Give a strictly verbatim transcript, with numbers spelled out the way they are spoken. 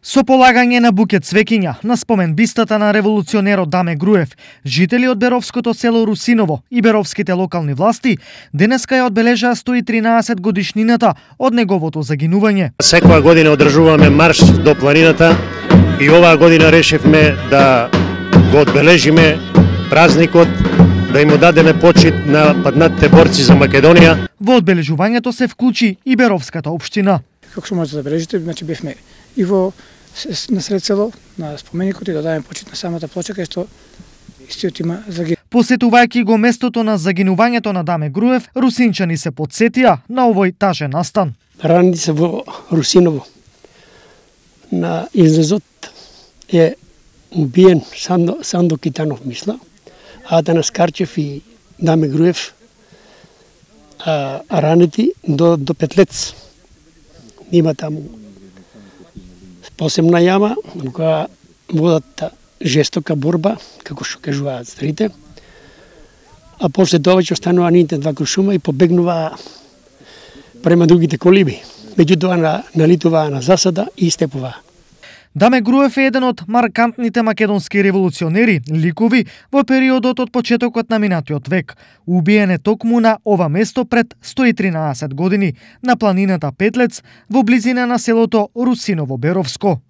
Со полагање на букет цвеќиња на спомен бистата на револуционерот Даме Груев, жители од Беровското село Русиново и беровските локални власти денеска ја одбележаа сто и тринаесет годишнината од неговото загинување. Секоја година одржуваме марш до планината и оваа година решивме да го одбележиме празникот, да им дадеме почит на паднатите борци за Македонија. Во одбележувањето се вклучи и Беровската општина. Како што можете да забележите, значи бевме и во на сред село, на споменикот и да дадеме почит на самата плоча кај што истиот има загинуване. Посетувајќи го местото на загинувањето на Даме Груев, русинчани се потсетија на овој тажен настан. Ранени се во Русиново. На излезот е убиен Сандо, Сандо Китанов, мисла, Атанас Карчев и Даме Груев, а, а ранети до, до Петлец. Има таму посебна јама, која водат жестока борба, како што кажуваат старите, а после тоа ќе останува ните два крушума и побегнува према другите колиби. Меѓутоа на, налитува на засада и степува. Даме Груев е еден од маркантните македонски револуционери, ликови во периодот од почетокот на минатиот век. Убиен е токму на ова место пред сто и тринаесет години на планината Петлец во близина на селото Русиново Беровско.